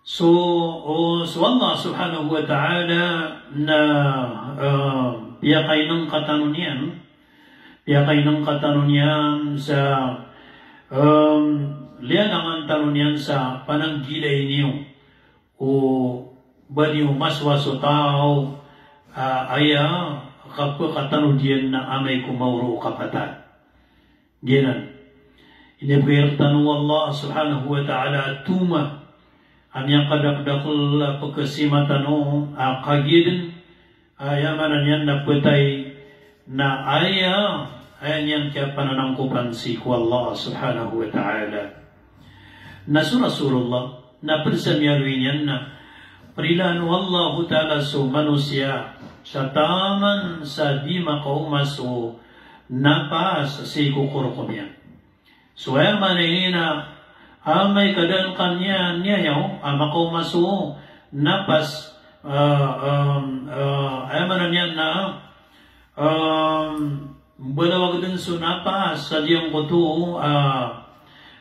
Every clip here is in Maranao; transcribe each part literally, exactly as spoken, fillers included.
So, o, so Allah subhanahu wa ta'ala na, ah, piyakainengka tano niyan, piyakainengka tano niyan sa, em, liyalangan tano niyan sa pananggilai niyo o ba niyo maswas o taw, ah, aya kapekatanod iyan na amay ko maoro o kapatay. Giyanan. Inibgay rektano o Allah subhanahu wa ta'ala a toma a miyakadakdakel a pekesima tano a kagiya den, aya maana niyan na petay, na aya, aya niyan kiyapananangkopan sii ko Allah subhanahu wa ta'ala. Na so Rasulullah, na ped sa miyaaloy niyan na perilaan o Allahu ta'ala so manosiya sa taman sa di makaoma so napas sii ko korokom iyan. So aya maana ini na amay ka da den ka niyan, niyayaw a makaoma so napas, ah, em, ah, aya maana niyan na, em, mbalawag den so napas sa giyangkoto, ah,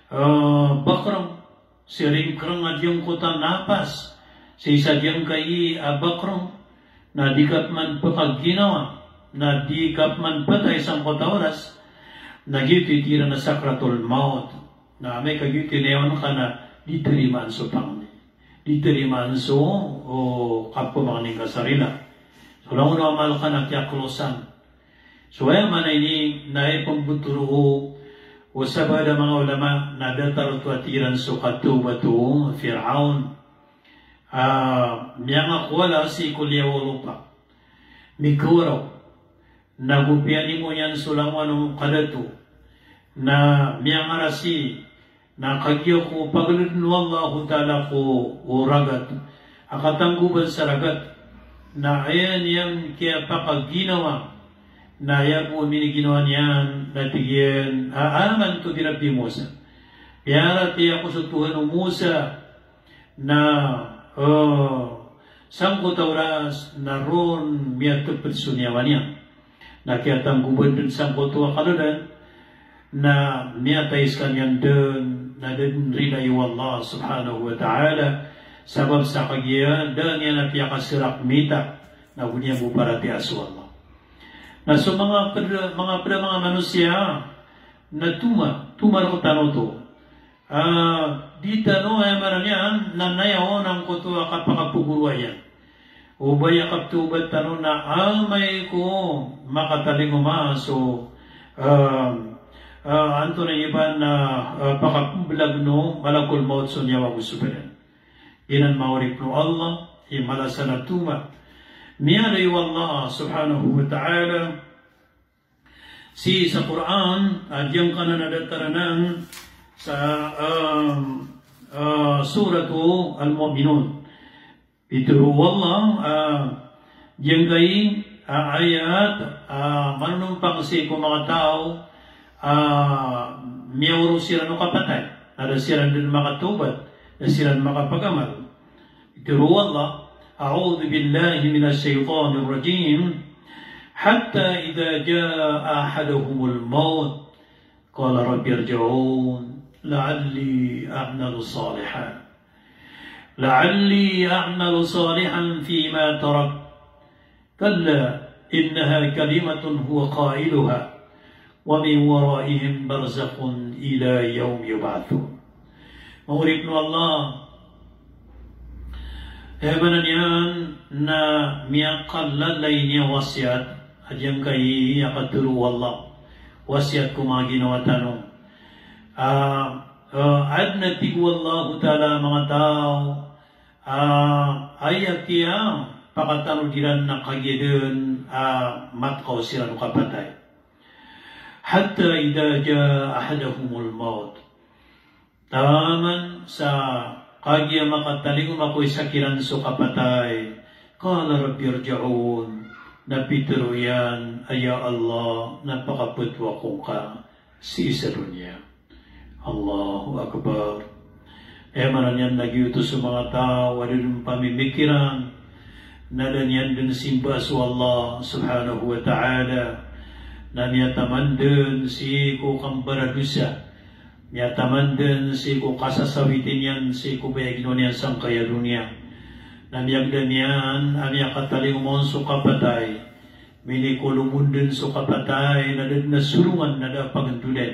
ah, bakreng, sii ringkereng a giyangkoto a napas sii sa giyangkai a bakreng, na di ka peman pekaginawa, na di ka peman petay sangkoto a oras, na giyoto i tig iran a sakratul maut. Na amay ka giyoto i nayawan ka na di tarimaan so pangni, di tarimaan so, o, kapemangni ngka sa rila. So langon o amal ka na kiyakelosan. So aya maana ini na aya pembetero o, o sabaad a manga ulama na datar oto a tig iran so katawbat o Firaun. Ah, miyangakowala sii ko liyawaw o lopa. Mikawaraw. Na go piyanimo iyan so langowan o kadato. Na miyangarasi. Na kagiya ko pageleden o Allahu ta'ala ko o ragat a katanggoban sa ragat, na aya niyan kiyapakaginawa, na aya bo miniginawa niyan na tig iyan a amantu bi Rabbi Musa. Piyaratiyaya ako so Tuhan o Musa. Na, eh, sangkoto a oras na ron miyateped so niyawa niyan. Na kiyatanggoban den sangkoto a kadadan, na miyatay sekaniyan den, na da den rilai o Allah subhanahu wa ta'ala, sabap sa kagiya da niyan a piyakaserak mita, na go niyan bo paratiyaya so Allah. Na so manga ped a, manga ped a manga manosiya, na toma, toma rektano oto. Ah, di tano, aya maana niyan na nayaw angkoto a kapakapegoroa iyan. O ba aya kapetawbat tano na amay ko makatalingoma so, ah, ah, antonaa i ba na, ah, pakapembelag o malakul maut so niyawa ago so badan. Giyanan manga oripen o Allah i mala sa na toma. Miyaaloy o Allah subhanahu wa ta'ala sii sa Qur'an, a giyangkanan a datar anan sa, um, uh, Suratu Al-Mu'minun. Pitero o Allah, uh, giyangkai, uh, ayat, uh, manonompang sii ko manga taw, uh, miyaoro siran o kapatay. Na da siran den makatawbat, da siran makapagamal. Pitero o Allah, أعوذ بالله من الشيطان الرجيم. حتى إذا جاء أحدهم الموت قال رب ارجعون لعلي أعمل صالحا، لعلي أعمل صالحا فيما تركت. كلا إنها كلمة هو قائلها ومن ورائهم برزخ إلى يوم يبعثون. Manga oripen o Allah, aya maana niyan na miyakalalay niyan wasiyat, a giyangkai a katero o Allah, wasiyat ko manga ginawa tano. Ah, ah, aden a tig o Allahu ta'ala a manga taw, ah, aya kiyapakatanod iran na kagiya den, ah, matkaw siran o kapatay. حتى إذا جاء أحدهم الموت. Taman sa kagiya makatalingoma ko isa kiran so kapatay. قال رب ارجعون. Na pitero iyan a ya Allah, na pakapetowa ako ngka sii sa doniya. Allahu Akbar. Aya maana niyan na giyoto so manga taw a da den pamimikiran, na da niyan den simba so Allah subhanahu wa ta'ala, na miyataman den sii ko kambaradosa, Miyataman den sii ko kasasawiti niyan sii ko baya ginawa niyan sangkaya doniya. Na miyagda niyan a miyakatalingoma on so kapatay. Minikolomon den so kapatay, na da den a solongan, na da a pagendodan.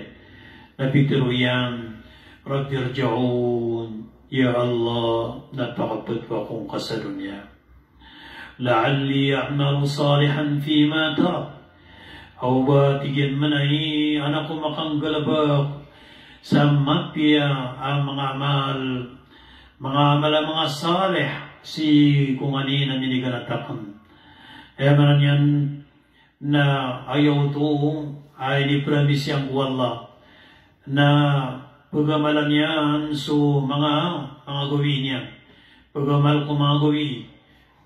Na pitero iyan, "Rabbi irji'un, ya Allah, na pakapetowa ako ngka sa doniya. La'alli a'malu salihan fima tarak." Aw ba, tig iyan, manay, an ako makanggalebek sa mapiya a manga amal, manga amal a manga salih, sii ko nganin a miniganat aken. Aya maana niyan na aya oto a inipromise iyan ko Allah na pegamalan iyan so manga, manga gawii niyan. Pegamal ko manga gawii,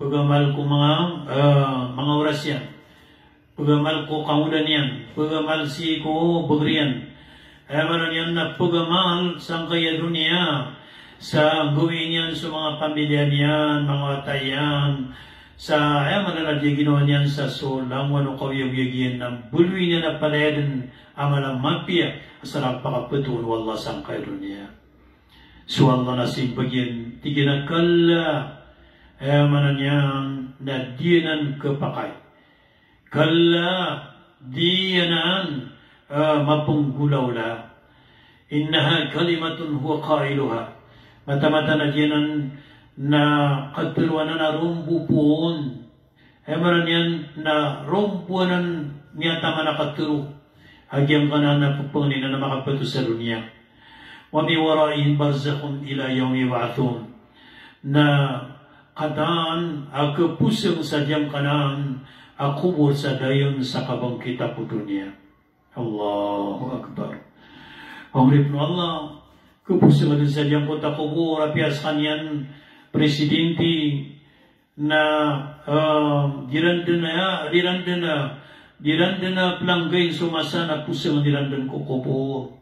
pegamal ko manga, eh, manga oras iyan, pegamal ko kangoda niyan, pegamal sii ko beger iyan. Aya maana niyan na pegamal sangkaya doniya sa gawii niyan so manga pamiliya niyan, manga wata iyan, sa aya maana na di ginawa niyan sa so langowan o kaoyagoyag iyan, na mbaloy niyan a palaya den a mala a mapiya a sarang pakapetowan o Allah sangkaya doniya. So Allah na simbag iyan, tig iyan a kalla, aya maana niyan na di anan kepakay. Kalla, di anan, eh, mapenggolawla. Innaha kalimatun huwa qailuha. Mataan-mataan a di anan na katero anan a rombo poon. Aya maana niyan na rombo anan miyataman a katero a giyangkanan a pepengnin anan a makapeto sa doniya. Wa min waraihim barzakhun ila yawmi yub'athun. Na kataan a keposeng sa giyangkanan a kobor sa dayon sa kabangkit a ko doniya. Allahu Akbar. Pangoripn o Allah, keposeng den sa giyangkoto a kobor, apiya sekaniyan presidente, na, eh, di ran den a, di ran den a, di ran den a pelanggain so masa na poseng di ran den ko kobor.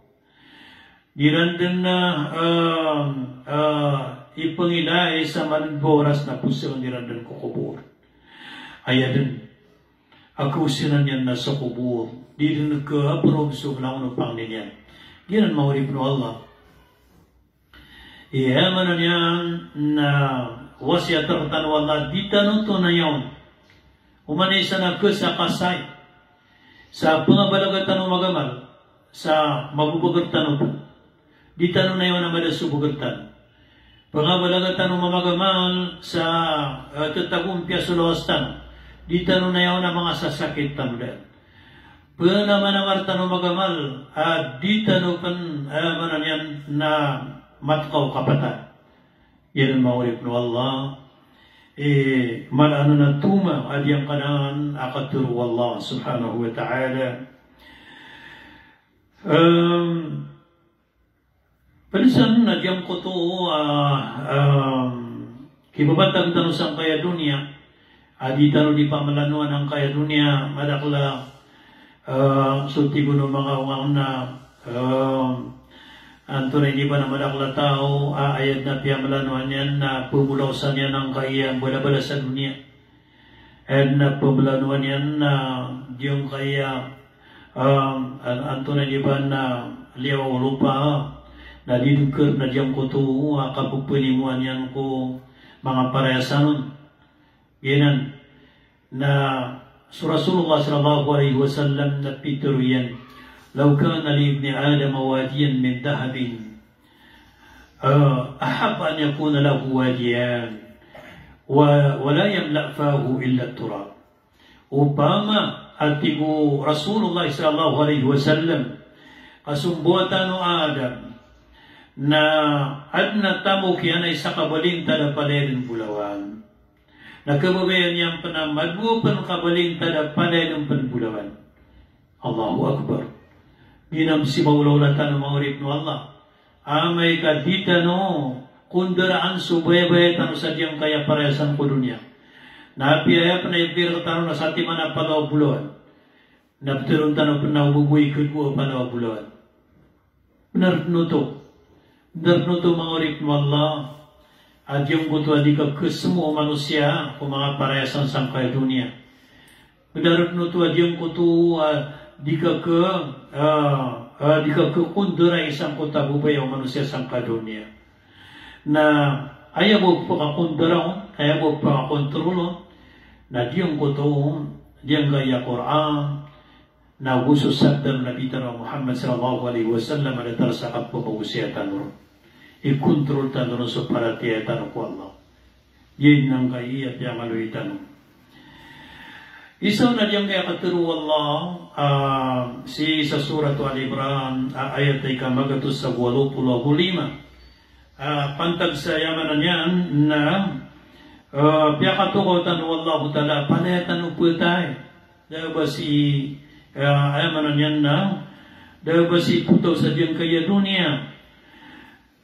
Di ran den a, eh, eh, ipengilay sa maden bo oras na poseng di ran den ko kobor. Aya den a kaosanan iyan na so kobor, di den keaperod so langon o pangnin iyan. Giyanan manga oripn o Allah. Aya maana niyan na wasiyat rektano o Allah, di tano tonayawn. Oman i isa na kesakasay sa pengabalaga tano magamal, sa mabobeger tano pn. Di tano nayawn a mada so beger tano. Pengabalaga tano mamagamal sa, eh, tetagompiya so lawas tano. Di tano nayawn a mangasasakit tano daan. Penamanamar tano magamal, a di tano pn, eh, maana niyan na matkaw kapatay. Giyanan manga oripn o Allah, eh, mala anan a toma a giyangkanan a katero o Allah subhanahu wa ta'ala. Em, Pd san na giyangkoto a, ah, kibabantag tano sangkaya doniya, a di tano di pamalanowan angkaya doniya, madakl a, ah, so tig o manga onga on na, ah, antonaa ini ba na madakl a taw a aya dn a piyamalanowan iyan na pmbolaosan iyan angkaya mbalabalas a doniya. Aya dn a pmbalabalas iyan na giyangkaya, ah, an-, antonaa ini ba na liyawaw o lopa, na di dn kr na giyangkoto a kapephanimoan iyan ko manga parayasan on. Giyanan na so Rasulullah sallallahu alaihi wasallam na pitharo iyan, "Law kana li ibni Adam wadiyan min dhahabin, ah, ahabba an yakuna lahu wadiyan, wa, wa la yamla fahu illa turab." Opama, a tig o Rasulullah sallallahu alaihi wasallam, ka so mbawataan o Adam na adn a tamok iyan a isa ka balintad a palaya dn bolawan, na khababayaan iyan pn a madowa pn ka balintad a palaya dn pn bolawan. Allahu Akbar. Giyanan i maolaola tano manga oripn o Allah. Amay ka di tano kondaraan so bayabaya tano sa giyangkaya parayasan ko doniya. Na apiya aya pn a ibgay rktano na satiman a palo a bolawan, na ptharoon tano pn a o ba bo i khadowa a palo a bolawan. Bnar dn oto. Bnar dn oto manga oripn o Allah. A giyangkoto a di ka khasmo o manosiya ko manga parayasan sangkaya doniya. Bnar dn oto a giyangkoto a di ka kha, ah, ah, di ka kekondera i sangkoto a babaya o manosiya sangkai a doniya. Na aya bo pekakondera on, aya bo pekakontrol on, na giyangkoto on, giyangkaya Qur'an, na go so sabda o Nabi tano a Muhammad sallallahu alaihi wasallam a datar sa kapemagosaya tano ron. Ikontrol tano ron so paratiyaya tano ko Allah. Giyangkaya piyangaloy tano. Isa on na giyangkaya katero o Allah, ah, sii sa Surat Al Imran, ah, ayat a ika magatos ago walo polo ago lima. Ah, pantag sa aya maana niyan na, ah, piyakatokaw tano o Allahu Ta'ala, palaya tano petay. Da a ba si, ah, aya maana niyan na, da a ba si potaw sa giyangkaya doniya.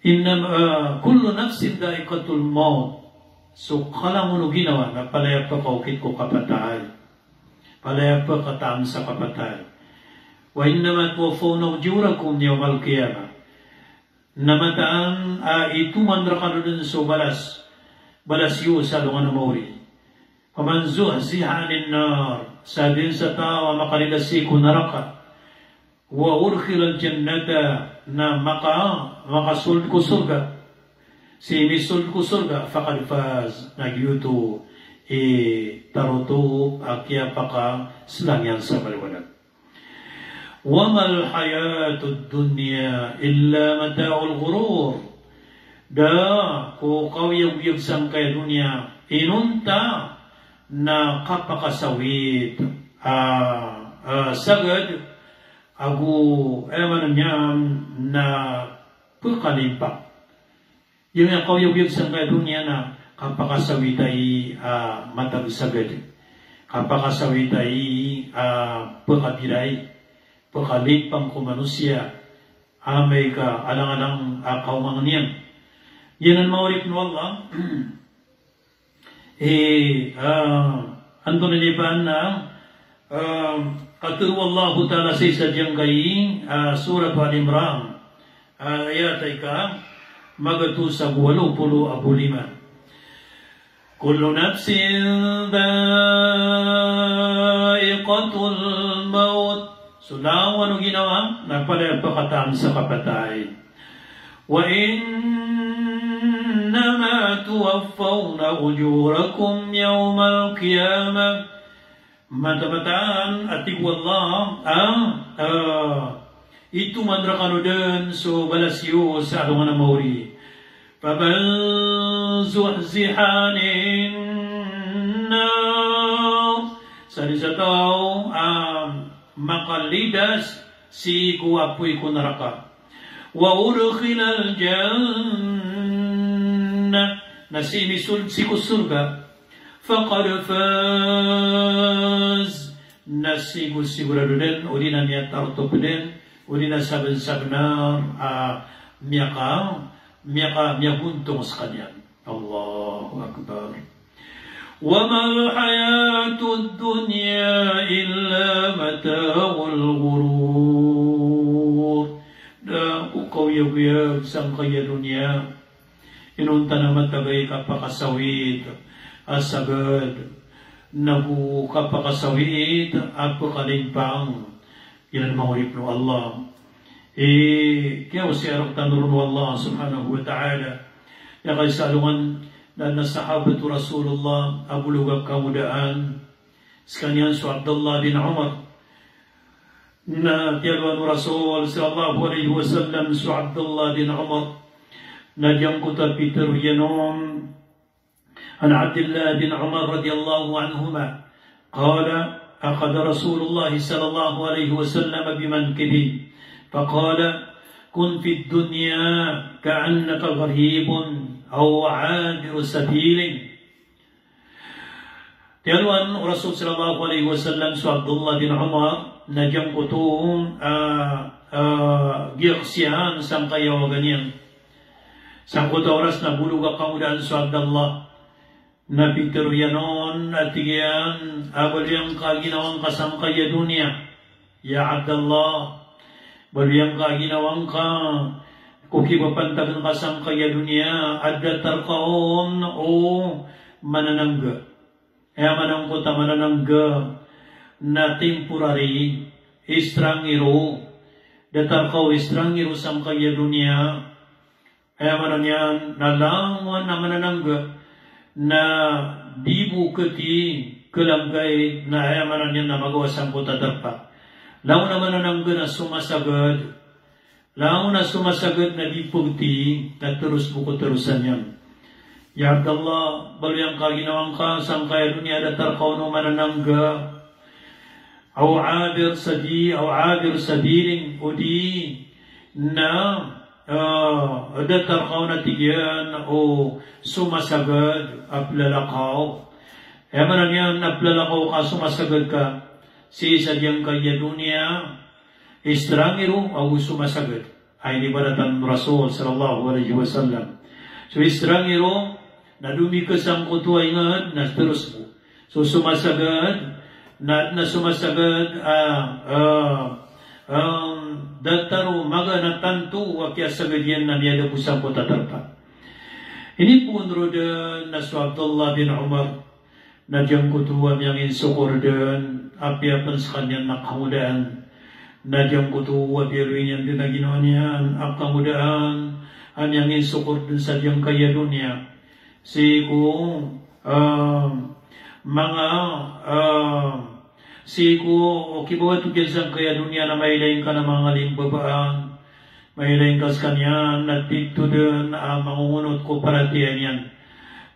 Innam-, ah, kullu nafsin dha'iqatul maut. So kalangon o ginawa na palaya pekaokit ko kapatay. Palaya pekataan sa kapatay. Wa innama tuwaffawna ujurakum yawmal qiyamah. Na mataan a itoman rekano den so balas, balas iyo sa alongan a maori. Faman zuhziha 'anin nar, sa den sa taw a makalidas sii ko naraka, wa udkhilal jannata, na maka-, makasold ko sorga, sii misold ko sorga, faqad faz, na giyoto i tarotop a kiyapakaselang iyan sa maliwanag. Wa mal hayatud dunya illa mata'ul ghurur. Da ko kaoyagoyag sangkai a doniya inonta na kapakasawit a, a, sagad ago, aya maana niyan na pekalimpang. Aya miyakaoyagoyag sangkai a doniya na kapakasawit ai, ah, matag sagad. Kapakasawit ai, ah, pekabiray. Pekalimpang ko manosiya. Amay ka alang-alang a kaomang iyan. Giyanan manga oripn o Allah. Eh, ah, antonaa i ba na, ah, katero o Allahu Ta'ala sii sa giyangkai, ah, Surat Al Imran, ah, ayat a ika magatos ago walo polo ago lima. Kullu nafsin dha'iqatul maut. So langon o ginawa na palaya pekataan sa kapatay. Wa innama tuwaffawna ujurakum yawmal qiyamah. Mataan-mataan a tig o Allah, ah, ah, itoman rekano den so balas iyo sa alongan a maori. Faman zuhziha 'anin nar. Sa den sa taw a makalidas sii ko apoy ko naraka. Wa udkhilal jannah, na sii misold sii ko sorga. Faqad faz, na sigo-, sigorado den, odi na miyatarotop den, odi na saben-sabenar a miyaka-, miyaka-, miyagontong sekaniyan. Allahu Akbar. Wa mal hayatud dunya illa mata'ul ghurur. Da ko kaoyagoyag sangkai a doniya inonta na matag ai kapakasawit a sagad, nago kapakasawit a pekalimpang. Giyanan manga oripn o Allah. Eh, kiyaosaya rektano ron o Allah subhanahu wa ta'ala. Aya kaisa alongan na, na sahabat o Rasulullah a bolog a kangodaan. Sekaniyan so Abdullah bin Umar. Na tiyalowan o Rasul sallallahu alaihi wasallam so Abdullah bin Umar. Na giyangkoto a pitero iyan on. An Abdillah bin Umar radiyallahu anhuma. Qala, akhadha Rasulullah sallallahu alaihi wasallam bimankibi. Faqala, kun fid dunya ka'annaka gharibun aw abiru sabilin. Tiyalowan o Rasul sallallahu alaihi wasallam so Abdullah bin Umar, na giyangkoto, ah, ah, giyaksiyan sangkai a waga niyan. Sangkoto a oras na bolog a kangodaan so Abdullah. Na pitero iyan on, a tig iyan, a baloy angka a ginawa ngka sangkai a doniya. Ya Abdallah, baloy angka a ginawa ngka ko kibapantagan ka sangkai a doniya, a datar ka on o mananangga. Aya maana angkoto a mananangga na temporary, extranghero, datar ka o istrangir o sangkaya doniya, aya maana niyan na langon a mananangga na di bo kati kalaggay na aya maana niyan na magawa sangkoto a darpa. Langon a mananangga na somasagad, langon a somasagad na di pagti na teros bo ko terosan iyan. Ya Abdallah, baloy angka ginawa ngka sangkaya doniya, datar ka on o mananangga, aw abir sabi-, aw abir sabilin, odi na, ah, datar ka on a tig iyan o somasagad a plalakaw. Aya maana niyan na plalakaw ka, somasagad ka sii sa giyangkaya doniya, istrangir o ago somasagad. Aya inibaratan o Rasul sallallahu alaihi wasallam. So istrangir o na domi ka sangkoto a ingd na teros bo. So somasagad na, na somasagad, ah, ah, um, datar o magaan a tanto a kiyasagad iyan na miyada bo sangkoto a darpa. Inipoon roo den na so Abdullah bin Umar na giyangkoto a miyanginsokor den, apiya pen sekaniyan na kangodaan. Na giyangkoto a biyaloy niyan den a ginawa niyan a kangodaan a miyanginsokor den sa giyangkaya doniya. Sii ko, ah, manga, ah, sii ko, o kibawato giyan sangkaya doniya na mailay ngka na manga limbabaan, mailay ngka sekaniyan na tito den a mangongonot ko paratiyaya niyan,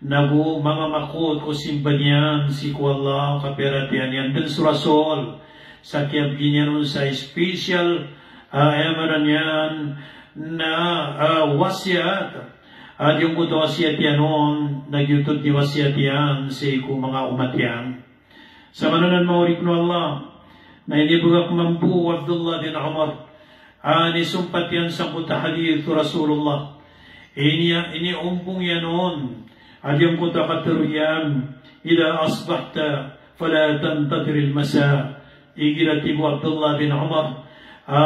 nago mamamakot ko simba niyan sii ko Allah, kapiyaratiyaya niyan den so Rasul, sa kiyabgi niyan on sa special, ah, aya maana niyan na, ah, wasiyat, ah, giyangkoto a wasiyat iyan on na giyoto i wasiyat iyan sii ko manga omat iyan. Sa maana nan, manga oripen o Allah, na inibegak mambo o Abdullah bin Umar a inisompat iyan sangkoto a hadith o Rasulullah. Ini, iniombong iyan on a giyangkoto a katero iyan, "Idha asbahta fala tantadhiril masa." Igira, tig o Abdullah bin Umar, a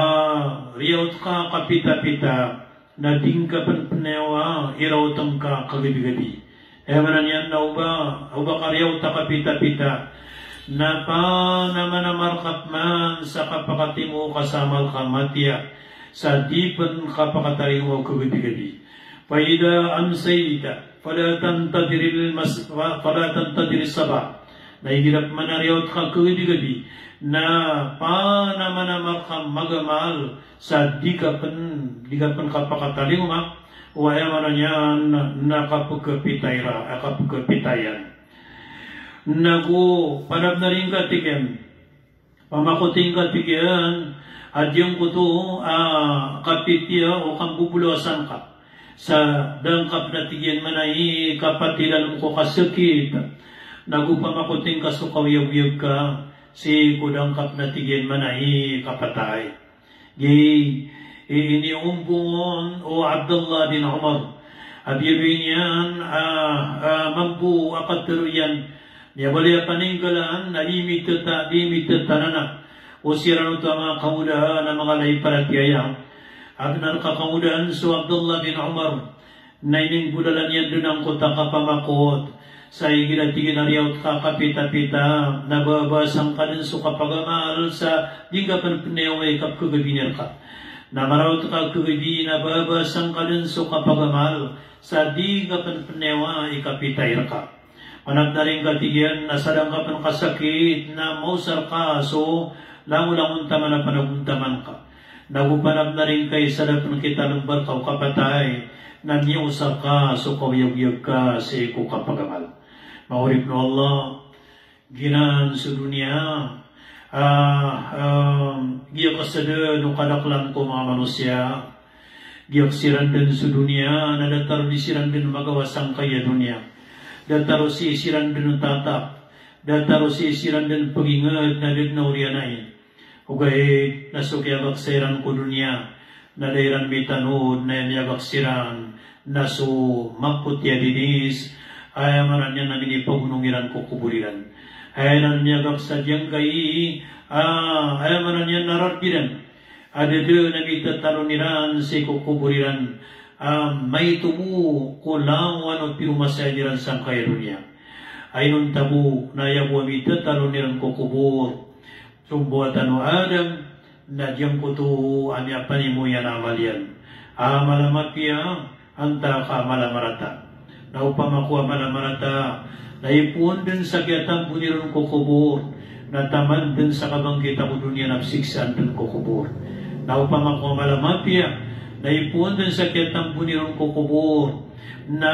riyaot ka kapitapita, na di ngka pen penayawa i raot ngka kagabigabi. Aya maana niyan na o ba, o ba ka riyaot a kapitapita, na panamanama rka pman sa kapakatimo ka sa amal ka matiya, sa di pen kapakatalingoma o kagabigabi. Fa idha amsayta fala tantadhiril mas-, fa-, fala tantadhiris sabah. Na igira pman a riyaot ka kagabigabi, na panamanama rka magamal, sa di ka pen, di ka pen kapakatalingoma o, aya maana niyan, na kapekepitay ra, a kapekepitayan. Nago panabenaring ka, tig iyan, pamakoting ka, tig iyan, a giyangkoto a kapitiya o kambobolawasan ka. Sa da ngka pen, a tig iyan, mana i kapatay lalem ko kasakit. Nago pamakoting ka so kaoyagoyag ka sii ko da ngka pen, a tig iyan, mana i kapatay. Giya i iniombong on o Abdullah bin Umar a biyaloy niyan a, a, mambo a katero iyan. Miyabaloy a paninggalan na di miteta-, di mitetanana o siran oto a manga kangodaan a manga lay paratiyaya. A benar ka kangodaan so Abdullah bin Umar na ininggolalan iyan den angkoto a kapamakot. Sa igira, tig iyan, a riyaot ka kapitapita, na babasang ka den so kapagamal, sa di ngka pen penayawa i kapekegabini rka. Na maraot ka kagabi, na babasang ka den so kapagamal, sa di ngka pen penayawa i kapitay rka. Panabenaring ka, tig iyan, na sa da ngka pen kasakit, na maosar ka so langolangon taman a panagontaman ka. Nago panabenaring ka i sa da pen kitalombar ka o kapatay, na miyaosar ka so kaoyagoyag ka sii ko kapagamal. Manga oripen o Allah, giyanan so doniya, ah, ah, giyakes den o kadaklan ko manga manosiya. Giyakes iran den so doniya na datar o di siran den magawa sangkaya doniya. Datar o sii siran den tatap. Datar o sii siran den peginged na da den a oriyan ai. Ogaid na so kiyagaksa iran ko doniya na da iran mitanod, na aya miyagaksa iran na so mapoti a dinis, aya maana niyan na minipagonong iran ko kobor iran. Aya iran miyagaksa giyangkai, ah, aya maana niyan na rarb iran a da den a mitatalon iran sii ko kobor iran, ah, maito bo ko langowan o piromasayad iran sangkaya doniya. Ay inonta bo na aya bo a mitatalon iran ko kobor, so mbawataan o Adam, Na giyangkoto a miyapanimo iyan a amal iyan a mala a mapiya antaa ka mala a marata. Na opama ko a mala a marata na ipoon dn sa kiyatamboni ron ko kobor, na taman dn sa kabangkita ko doniya na pziksaan dn ko kobor. Na opama ko a mala a mapiya na ipoon dn sa kiyatamboni ron ko kobor, na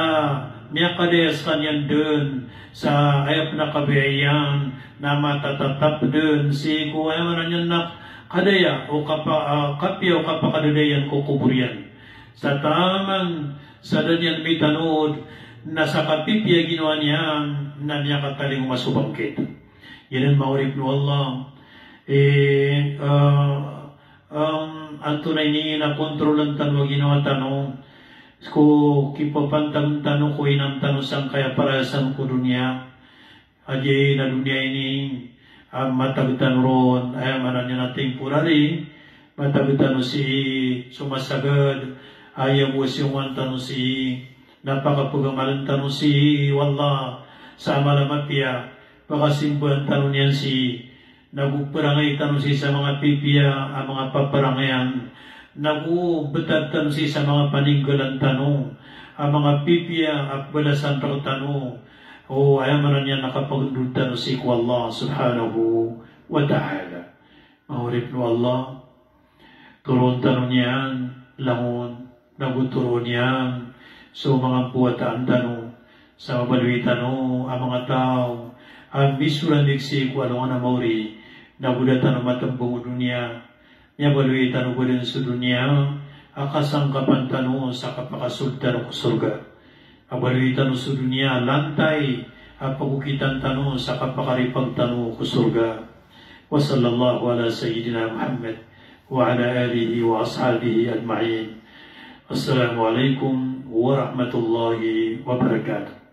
miyakadaya skaniyan dn sa aya pn a kabaya iyan na matatatap dn sii ko, aya maana niyan na kadaya o kapa-, ah, kapiya o kapakadadaya iyan ko kobor iyan. Sa taman sa da niyan mitanod na sa kapipiya a ginawa niyan na miyakatalingoma so bangkit. Giyanan manga oripn o Allah, eh, ah, um, antonaa ini na kontrolan tano a ginawa tano ko kipapantag tano ko inam tano sangkaya parayasan ko doniya. A giya na doniya ini a matag tano ron, aya maana niyan na temporary, matag tano sii so masagad, aya bo a siyongan tano sii, na pakapagamalan tano sii o Allah sa amal a mapiya, pakasimbaan tano niyan sii, nago parangay tano sii sa manga pipiya a manga paparangayan, nago btad tano sii sa manga paninggalan tano a manga pipiya a pbalasan rktano, o aya maana niyan na kapagndod tano sii ko Allah subhanahu wa ta'ala. Manga oripn o Allah, toroon tano niyan langon, nago toroon iyan so manga mbawataan tano, sa mabaloy tano a manga taw a misorandig sii ko alongan a maori, nago da tano matmbang o doniya. Miyabaloy tano bo dn so doniya a kasangkapan tano sa kapakasold tano ko sorga. A baloy tano so doniya a lantay a pagokitan tano sa kapakaripag tano ko sorga. Wa sallallahu ala sayyidina Muhammad wa ala alihi wa ashabihi ajma'in. Assalamu alaikum warahmatullahi wabarakatuh.